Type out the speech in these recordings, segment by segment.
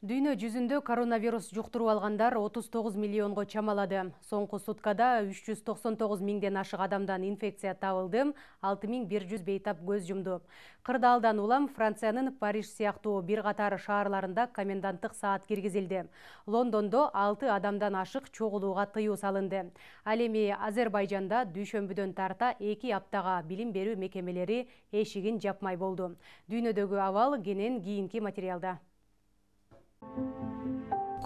Дүйнө жүзүндө коронавирус жуктуруп алгандар 39 миллионго чамалады. Соңку суткада 399 миңден ашык адамдан инфекция табылды, 6100 бейтап көз жумду. Кырдаалдан улам Франциянын Париж сыяктуу бир катар шаарларында коменданттык саат киргизилди. Лондондо 6 адамдан ашык чогулууга тыюу салынды. Ал эми Азербайжанда дүйшөмбүдөн тарта 2 аптага билим берүү мекемелери эшигин жапмай болду. Дүйнөдөгү абал кенен кийинки материалда.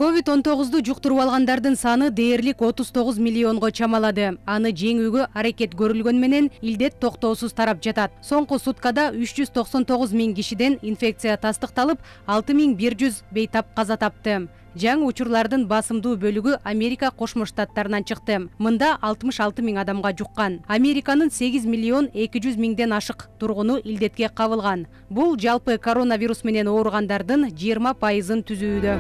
COVID-19 жуктуруп алгандардын саны дээрлик 39 миллионго чамалады. Аны жеңүүгө аракет көрүлгөн менен илдет токтоосуз тарап жатат. Соңку суткада 399 миң кишиден инфекция тастыкталып, 6100 бейтап каза тапты. Жаңы учурлардын басымдуу бөлүгү Америка Кошмо Штаттарынан чыкты. Мында 66 миң адамга жуккан. Американын 8 миллион 200 миңден ашык тургуну илдетке кабылган. Бул жалпы коронавирус менен ооругандардын 20%-ын түзүүдө.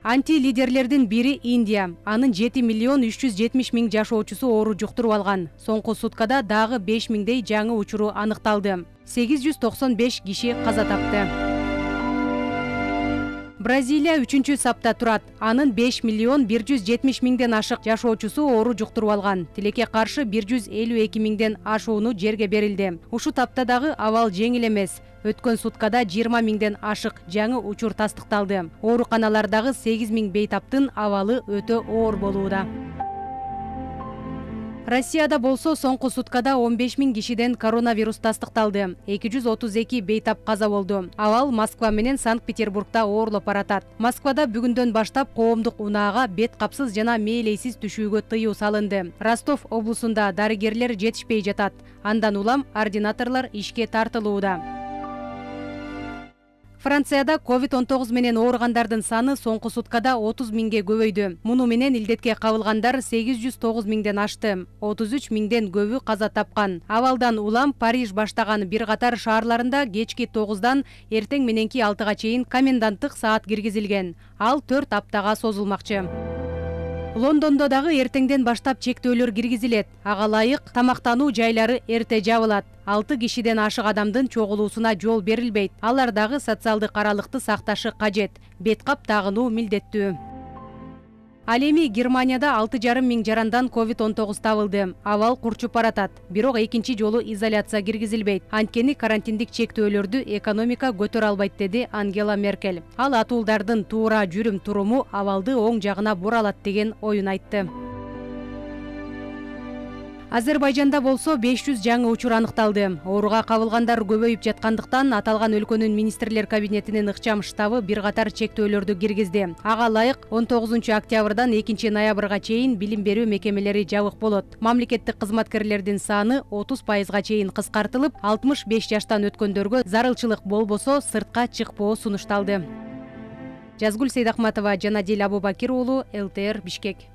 Анти-лидерлердин бири Индия. Анын 7 миллион 370 миң жашоочусу оору жуктуруп алган. Соңку суткада дагы 5 миңдей жаңы учуру аныкталды. 895 киши каза тапты. Бразилия 3-чү сапта турат. Анын 5 миллион 170 миңден ашык жашоочусу оору жуктуруп алган. Тилекке каршы 152 миңден ашууну жерге берилди. Ушу тапта дагы абал жеңил эмес. Өткөн суткада 20 миңден ашык жаңы учур тастыкталды. Ооруканалардагы 8 миң бейтаптын абалы өтө оор болууда. Россияда болсо соңку суткада 15 миң кишиден коронавирус тастыкталды. 232 бейтап каза болду. Абал Москва менен Санкт-Петербургда оорлоп баратат. Москвада бүгүндөн баштап коомдук унаага бет капсыз жана мээлейсиз түшүүгө тыюу салынды. Ростов облусунда дарыгерлер жетишпей жатат. Андан улам ординаторлор ишке тартылууда. Францияда COVID-19 менен ооругандардын саны соңку суткада 30 миңге көбөйдү. Муну менен илдетке кабылгандар 809 миңден ашты. 33 миңден көбү каза тапкан. Абалдан улам Париж баштаган бир катар шаарларында кечки 9-дан эртең мененки 6-га чейин коменданттык саат киргизилген. Ал 4 аптага созулмакчы. Лондондо дагы эртеңден баштап чектөөлөр киргизилет. Ага ылайык тамактануу жайлары эрте жабылат. 6 кишиден ашык адамдын чогулуусуна жол берилбейт. Алар дагы социалдык аралыкты сакташы кажет. Бет кап тагынуу милдеттүү. Ал эми Германияда 6,5 миң жарандан COVID-19 табылды. Абал курчуп баратат. Бирок экинчи жолу изоляция киргизилбейт. Анткени карантиндик чектөөлөрдү экономика көтөрө албайт, деди Ангела Меркель. Ал атуулдардын туура жүрүм туруму абалды оң жагына буралат деген оюн айтты. Азербайжанда болсо 500 жаңы учур аныкталды. Ооруга кабылгандар көбөйүп жаткандыктан аталган өлкөнүн министрлер кабинетинин ыкчам штабы бир катар чектөөлөрдү киргизди. Ага ылайык 19 октябрдан 2 ноябрга чейин билим берүү мекемелери жабык болот. Мамлекеттик кызматкерлердин саны 30%га чейин кыскартылып, 65 жаштан өткөндөргө зарылчылык болбосо сыртка чыкпоо сунушталды. Жазгүл Сейдахматова, Жанадил Абубакир уулу, ЛТР, Бишкек.